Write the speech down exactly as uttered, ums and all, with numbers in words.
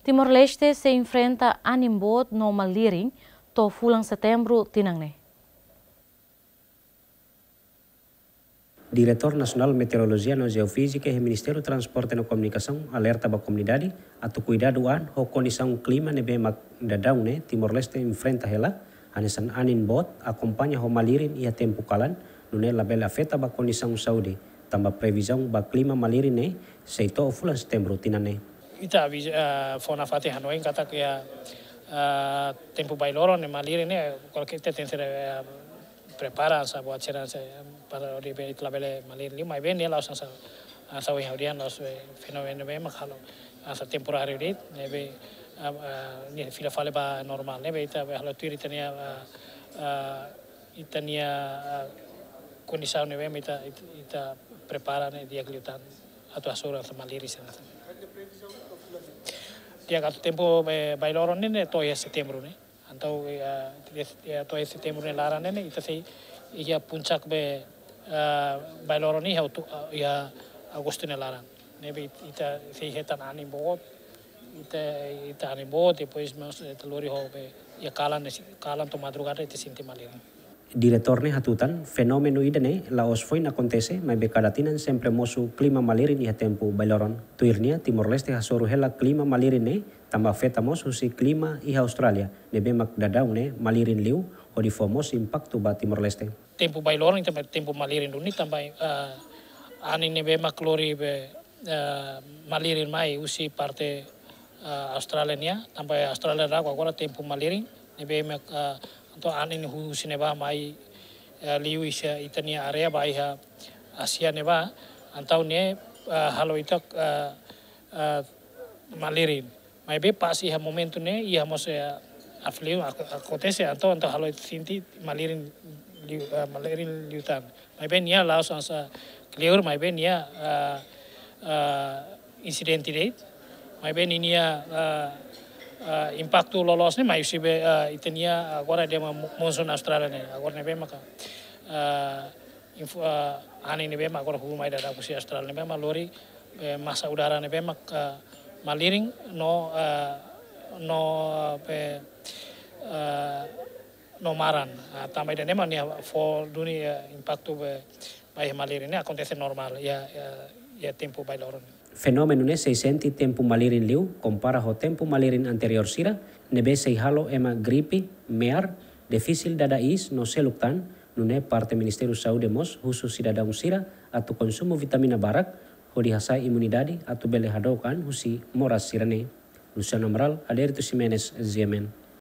Timor-Leste sei enfrenta anin boot no malirin to'o fulan Setembru tinan ne'e. Diretór Nasionál Meteorolojia no Jeofízika iha Ministériu Transporte no Komunikasaun alerta ba komunidade atu kuidadu an ho kondisaun klima ne'ebé mak daudaun ne'e Timor-Leste enfrenta hela, hanesan anin boot akompaña ho malirin iha tempu kalan, nune'e labele afeta ba kondisaun saúde, tanba previzaun ba klima malirin ne'e sei to'o fulan Setembru tinan ne'e. Ita avi-, ah, fó nafatin hanoin katak iha, ah, tempu bailoron ne'e malirin ne'e, kualkér ita tenke, ah, prepara hanesan buat sira hanesan, eh, para hodi be ita labele malirin liu, maibé ne'e la'ós hanesan, ah, hanesan ohin ha'u dehan la'ós, eh, fenómenu ne'ebé mak halo hanesan temporáriu de'it, ne'ebé, ah, ah, nia fila fali ba normál, ne'ebé ita be halo tuir ita-nia, ah, ah, ita-nia, ah, kondisaun ne'ebé mak ita, ita, ita prepara ne'e di'ak liután atu hasoru hanesan malirin sira hanesan. Di'ak atu tempu, eh, bailoron ne'e, ne'e to'o iha Setembru ne'e. Entaun, eh, eh, to'o iha Setembru nia laran ne'e, ne'e ita sei iha puncak be, eh, bailoron ne'e iha Otu-, eh, iha Agostu nia laran. Ne'ebé ita sei hetan anin boot, ita, ita anin boot, depois mós ita lori ho be iha kalan ne'e, kalan to'o madrugada ita sente malirin. Diretór ne'e hatutan, fenómenu ida-ne'e la'ós foin akontese, maibé kada tinan sempre mosu klima malirin iha tempu bailoron. Tuir nia, Timor-Leste hasoru hela klima malirin ne'e, tanba afeta mós husi klima iha Austrália, ne'ebé mak daudaun ne'e malirin liu, hodi fó mós impaktu ba Timor-Leste. Tempu bailoron, tempu, tempu malirin duni, tanba, ah, anin ne'ebé mak lori be, ah, malirin mai husi parte, ah, Austrália nian, tanba Austrália daudaun agora tempu malirin, ne'ebé mak, ah, entaun anin husi ne'ebá mai, ah, liu iha ita-nia área ba iha Ázia ne'ebá, entaun ne'e, ah, halo ita, ah, ah, malirin. Maibé pas iha momentu ne'e, iha mós, eh, arfiliu ak-, akontese, entaun, entaun halo sente malirin liu, eh, malirin liután. Maibé nia la'ós hanesan kleur, maibé nia, eh, eh, insidente de'it. Maibé ninia, eh, eh, impaktu loloos ne'e, mai husi be, eh, ita-nia agora dehan mo-, monsoon Austrália ne'e. Agora ne'ebé maka, eh, info, eh, anin ne'ebé mak agora huu mai daudaun husi Austrália ne'ebé mak lori, eh, masa udara ne'ebé mak, eh, malirin no, eh, no, eh, be, eh, no maran. Ah, tanba ida-ne'e mak nia fó duni, eh, impaktu be, ba iha malirin ne'e akontese normál iha, iha, iha tempu bailoron. Fenómenu ne'e sei sente tempu malirin liu, kompara ho tempu malirin anteriór sira, ne'ebé sei halo ema gripe, me'ar, difisil dada iis no seluk tan, nune'e parte Ministériu Saúde mós husu sidadaun sira atu konsumu vitamina barak, hodi hasa'e imunidade atu bele hadook an husi moras sira-ne'e. Luciano Amaral, Adérito Ximenes, G M N.